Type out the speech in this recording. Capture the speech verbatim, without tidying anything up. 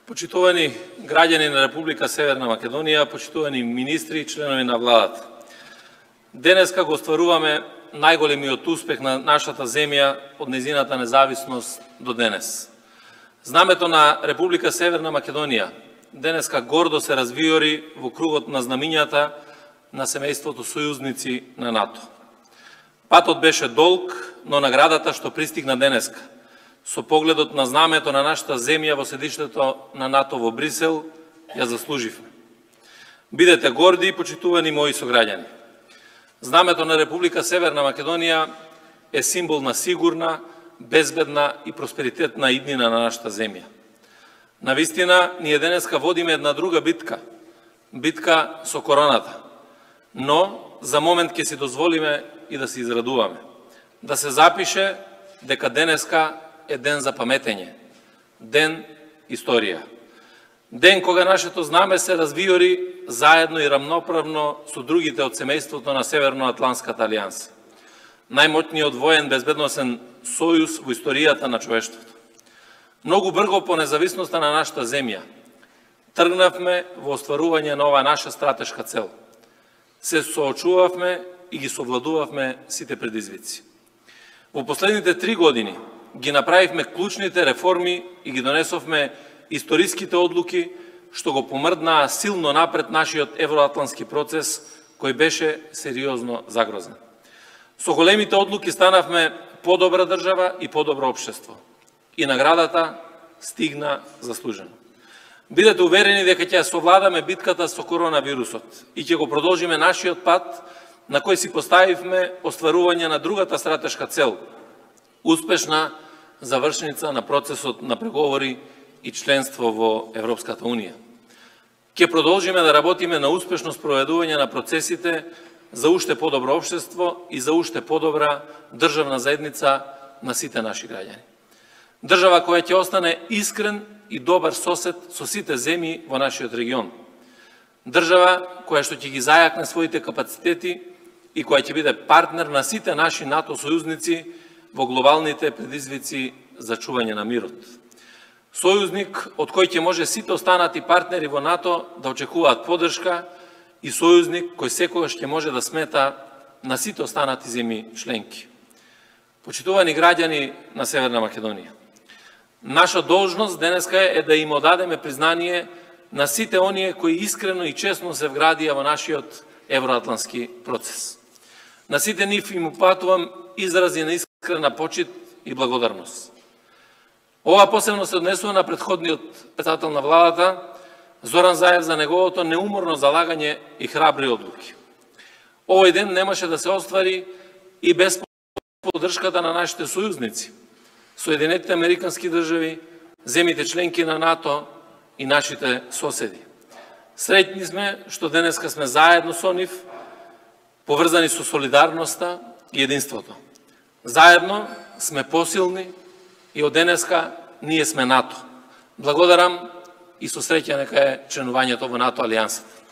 Почитувани граѓани на Република Северна Македонија, почитувани министри и членови на владата. Денеска го остваруваме најголемиот успех на нашата земја од незината независност до денес. Знамето на Република Северна Македонија денеска гордо се развиори во кругот на знамињата на семејството сојузници на НАТО. Патот беше долг, но наградата што пристигна денеска, со погледот на знамето на нашата земја во седиштето на НАТО во Брисел, ја заслуживме. Бидете горди и почитувани мои сограѓани. Знамето на Република Северна Македонија е символ на сигурна, безбедна и просперитетна иднина на нашата земја. Навистина, ние денеска водиме една друга битка, битка со короната, но за момент ќе си дозволиме и да се израдуваме, да се запише дека денеска е ден за паметење, ден историја. Ден кога нашето знаме се развиори заедно и рамноправно со другите од семејството на Северноатланската алијанса, најмоćниот воен безбедносен сојуз во историјата на човештвото. Многу брго по независноста на нашата земја тргнавме во остварување на оваа наша стратешка цел. Се соочувавме и ги совладувавме сите предизвици. Во последните три години ги направивме клучните реформи и ги донесовме историските одлуки што го помрднаа силно напред нашиот евроатлански процес, кој беше сериозно загрозен. Со големите одлуки станавме подобра држава и подобро општество. И наградата стигна заслужено. Бидете уверени дека ќе совладаме битката со коронавирусот и ќе го продолжиме нашиот пат на кој си поставивме остварување на другата стратешка цел – успешна завршница на процесот на преговори и членство во Европската Унија. Ќе продолжиме да работиме на успешно спроведување на процесите за уште подобро општество и за уште подобра државна заедница на сите наши граѓани. Држава која ќе остане искрен и добар сосед со сите земји во нашиот регион. Држава која што ќе ги зајакне своите капацитети и која ќе биде партнер на сите наши НАТО сојузници во глобалните предизвици за чување на мирот. Сојузник од кој ќе може сите останати партнери во НАТО да очекуваат поддршка и сојузник кој секогаш ќе може да смета на сите останати земји членки. Почитувани граѓани на Северна Македонија, наша должност денеска е да им одадеме признание на сите оние кои искрено и честно се вградија во нашиот евроатлански процес. На сите нив им упатувам изрази на искрена почит и благодарност. Ова посебно се однесува на претходниот председател на владата, Зоран Заев, за неговото неуморно залагање и храбри одлуки. Овој ден немаше да се оствари и без поддршката на нашите сојузници, Соединетите Американски држави, земјите членки на НАТО и нашите соседи. Среќни сме што денеска сме заедно со нив, поврзани со солидарноста и единството. Заедно сме посилни и од денеска ние сме НАТО. Благодарам и со среќа нека е членувањето во НАТО алијансата.